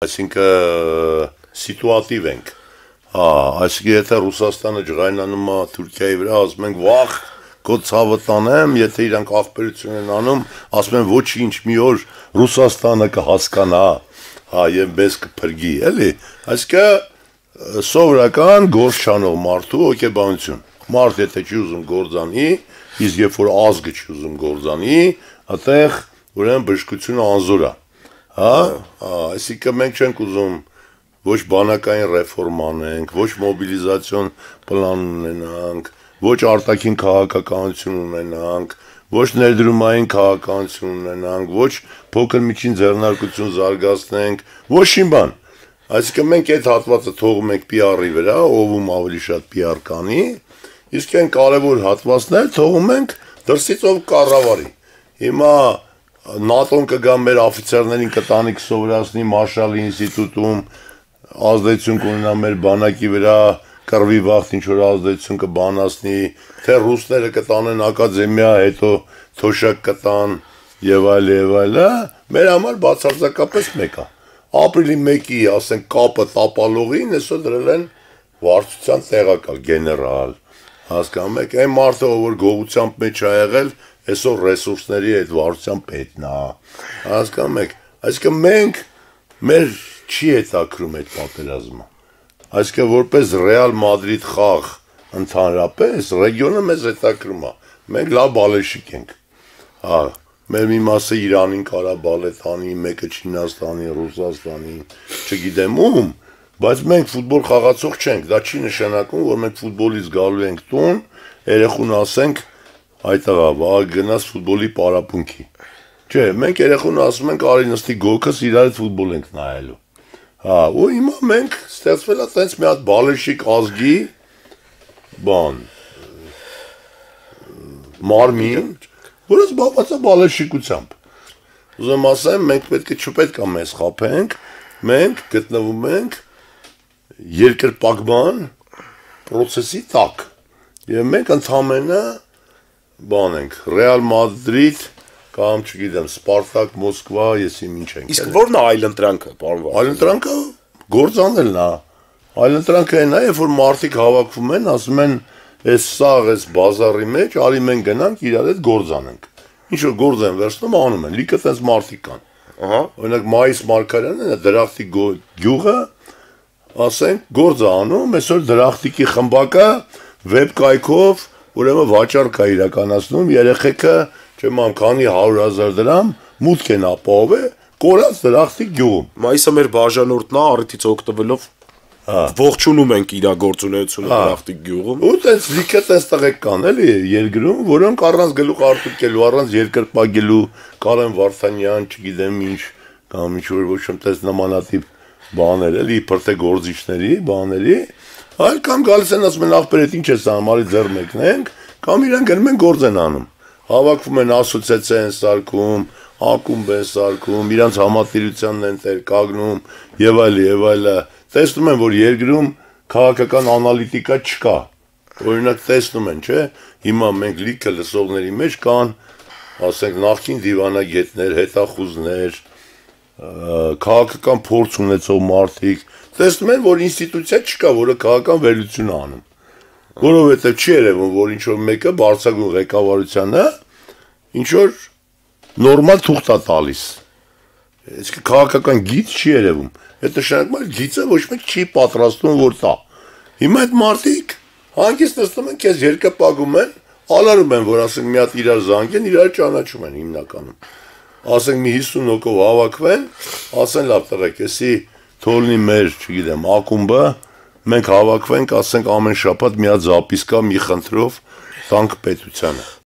Այսինքն սիտուատիվ ենք, այսինքն եթե Ռուսաստանը ջղայնանում է Թուրքիայի վրա, ասում ենք վախ, քո ցավը տանեմ, եթե իրանք ախպերություն են անում, ասում են ոչինչ, մի օր Ռուսաստանը կհասկանա, եւ մեզ կփրկի, էլի, այսինքն սովորական գործ չանող մարդու հոգեբանություն, մարդ եթե չի ուզում գործանի, իսկ երբ որ ազգը չի ուզում գործանի, այդտեղ ուրեմն բժշկությունը անզոր է, այսինքն մենք չենք ուզում ոչ բանակային ռեֆորմ անենք, ոչ մոբիլիզացիոն պլան ունենանք, ոչ արտաքին քաղաքականություն ունենանք, ոչ ներդրումային քաղաքականություն ունենանք, ոչ փոքր միջին ձեռնարկություն զարգացնենք, ոչինչ բան։ Այսինքն մենք այդ հատվածը թողում ենք PR-ի վրա, ում ավելի շատ PR կանի, իսկ այն կարևոր հատվածներ թողում ենք դրսից ով կառավարի։ Հիմա ՆԱՏՕ-ն կգա մեր օֆիցերներին կտանի կսովորացնի Մարշալի ինստիտուտում, ազդեցություն կունենա մեր բանակի վրա, կռվի վաղ ինչ-որ ազդեցություն կբանացնի, թե ռուսները կտանեն ակադեմիա, հետո թոշակ կտան եւ այլ, մեր համար բացարձակապես մեկ է։ Ապրիլի 1-ի, ասենք, կապը տապալողին այսօր դրել են վարչության տեղակալ, գեներալ, հասկանում եք, այն մարդը, որ գողությամբ մեջ ա եղել, այսօր ռեսուրսների այդ վարչության պետն է, հասկանում եք, այսինքն մենք, մեր չի հետաքրում այդ պատերազմը, այսինքն որպես Ռեալ Մադրիդ խաղ ընդհանրապես, ռեգիոնը մեզ հետաքրում է, մենք լավ բալեշիկ ենք, մեր մի մասը Իրանին կարա բալետ անի, մեկը Չինաստանի, Ռուսաստանի, չգիտեմ ում, բայց մենք ֆուտբոլ խաղացող չենք, դա չի նշանակում, որ մենք ֆուտբոլից գալու ենք տուն, երեխուն ասենք, այդտեղա, վաղ գնաց ֆուտբոլի պարապունքի, չէ, մենք երեխուն ասում ենք, արի նստի գոգս, իրար հետ ֆուտբոլ ենք նայելու, ու հիմա մենք ստեղծվել է տենց մի հատ բալեշիկ ազգի, բան, մարմին, որը զբաղված է բալեշիկությամբ, ուզեմ ասեմ, մենք չպետք է մեզ խաբենք, մենք գտնվում ենք երկրպագման պրոցեսի տակ, եւ մենք ընդամենը բան ենք, Ռեալ Մադրիդ կամ չգիտեմ, Սպարտակ, Մոսկվա, եսի ինչ ենք։ Իսկ ո՞րն է այլընտրանքը, պարոն Վարդան։ Այլընտրանքը գործանելն է։ Այլընտրանքը այն է, երբ որ մարդիկ հավաքվում են, ասում են, այս սաղ, այս բազարի մեջ, արի մենք գնանք իրար հետ գործանենք։ Ինչ որ գործ են վերցնում, անում են, լիքը տես մարդիկ կան։ Օրինակ Մայիս Մարգարյանն դրախտի գյուղը, ասենք, գործ է անում, այսօր դրախտիկի խմբակը վեբ կայքով, ուրեմն վաճառք է իրականացնում, երեխեքը, չեմ ամ քանի 100,000 դրամ մուտք են ապահովել կորած դրախտիկ գյուղում։ Մայիսը մեր բաժանորդն է, առիթից օգտվելով ողջունում ենք իր գործունեությունը դրախտիկ գյուղում։ Ու տես լիքը տես տղեկ կան էլի երկրում, որոնք առանց գլուխ արտուկելու, առանց երկրպագելու, Կարեն Վարդանյան, չգիտեմ ինչ, կամ ինչ-որ ոչ տես նմանատիպ բաներ էլի, իբր թե գործիչների, բաների, այլ կամ գալիս են ասում են ախպեր հետ ինչ ես անում, արի ձեռ մեկնենք, կամ իրանք գնում են գործ են անում։ Հավաքվում են ասոցիացիա են սարքում, ակումբ են սարքում, իրանց համատիրությանն են տեր կանգնում եւ այլ, տեսնում են, որ երկրում քաղաքական անալիտիկա չկա։ Օրինակ տեսնում են, չէ՞, հիմա մենք լիքը լսողների մեջ կան, ասենք նախկին դիվանագետներ, հետախուզներ, քաղաքական փորձ ունեցող մարդիկ, տեսնում են, որ ինստիտուցիա չկա, որը քաղաքական վերլուծություն է անում։ Որովհետև չի երևում, որ ինչ-որ մեկը բարձրագույն ղեկավարությանը ինչ-որ նորմալ թուղթ է տալիս։ Իսկ քաղաքական գիծ չի երևում։ Այդ նշանակում է գիծը ոչ մեկ չի պատրաստում որ տա։ Հիմա այդ մարդիկ հանգիստ նստում են, քեզ երկրպագում են, ալարում են, որ ասենք մի հատ իրար զանգեն, իրար ճանաչում են հիմնականում։ Ասենք մի 50 հոգով հավաքվեն, ասեն լավ տղեկ, էսի թողնի մեր, չգիտեմ, ակումբը, մենք հավաքվենք, ասենք ամեն շաբաթ մի հատ զապիսկա մի խնդրով տանք պետությանը։